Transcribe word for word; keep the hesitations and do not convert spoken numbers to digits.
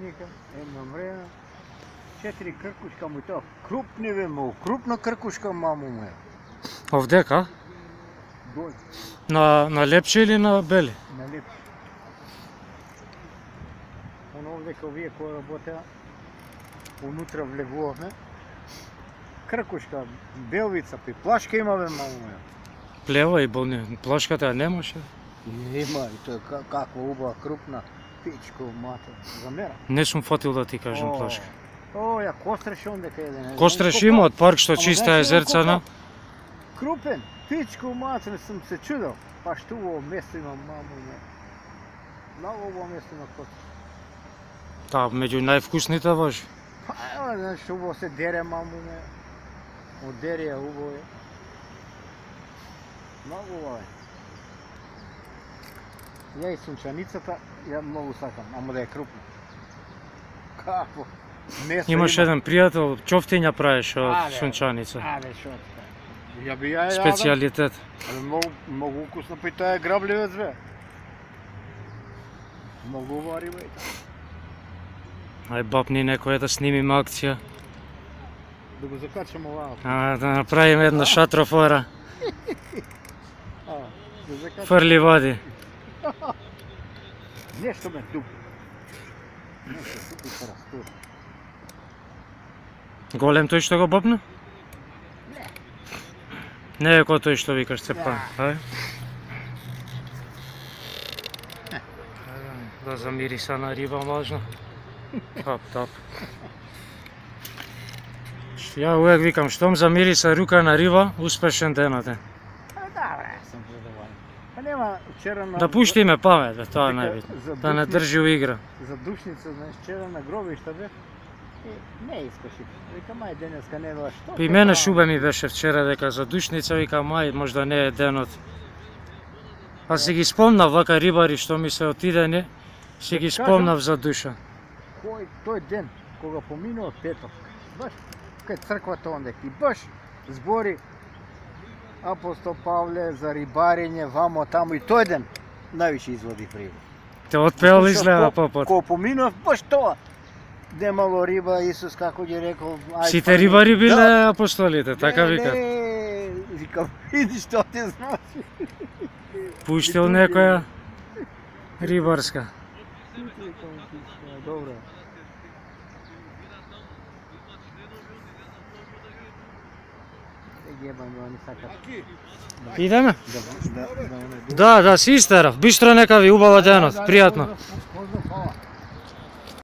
вика, едно време, четири кркушка му тоа, крупни бе му, крупна кркушка маму му е. Овдека? Доле. На, на лепче или на бели? На лепче. Оно овдека овие кои работеа, унутра влегувавме, кркушка, белвица, пи плашка има бе маму му е. Плева и болни, плашката ја немаше? Има, и тоа каква убава, крупна, пичко, мате, за мера. Не сум фатил да ти кажем плашка. О, ја костреш ондека еден. Костреш има од парк што чиста езерцана. Крупен, пичко, мате, не сум се чудел. Па што ово место има, мамо, не. Много ово место има костреш. Та, меѓу највкусните важи. Па, ева, знаеш, убаво се дере, мамо, не. Од дерија убаво е. Много убаво е. Ја и сунчаницата, ја многу сакам, ама да е крупна. Како? Месо Имаш има. еден пријател, чофтиња правеше од сунчаница. Абе, шо така. Ја би ја јадам. Специјалитет. Абе, многу, многу укусно, па и тоа е грабливец, бе. Многу убава риба и така. Ај бапни некоја да снимиме акција. Да го закачам оваа. А, да направиме една шатрофора. А, да закачам. Фрли води. Нешто ме тупи. Нешто тупи се растури. Голем тој што го бапна? Не. Не е кој тој што викаш цепан. Ај. Да замириса на риба можно. Тап, тап. Ја увек викам, штом замириса рука на риба, успешен денот е. Да, бре, сум задоволен. Па нема вчера на... Да пуштиме памет, бе, тоа е Дека најбитно. за Да не душни- држи у игра. За душница, знаеш, вчера на гробишта бе. И не искаше. Викам, ај денеска не била што. И мене шубе ми беше вчера дека за душница, викам, ај, можда не е денот. А си ги спомнав вака рибари што ми се отидени, си ги кажам- спомнав за душа. Кој тој ден кога поминува петок, баш кај црквата ондека и баш збори апостол Павле за рибарење вамо таму и тој ден највише изводи пријава. Те отпеал изгледа попот. Кога поминува баш тоа. Немало риба, Исус како ги рекол, ај. Сите рибари биле апостолите, така Не, викат. не, викам, види што ти значи. Пуштил некоја рибарска. Добро. Ебаме, они сакат. Идеме? Да, да, да, Да, да, си истерав. Бистро нека ви убава денот, пријатно. Поздрав, поздрав, фала.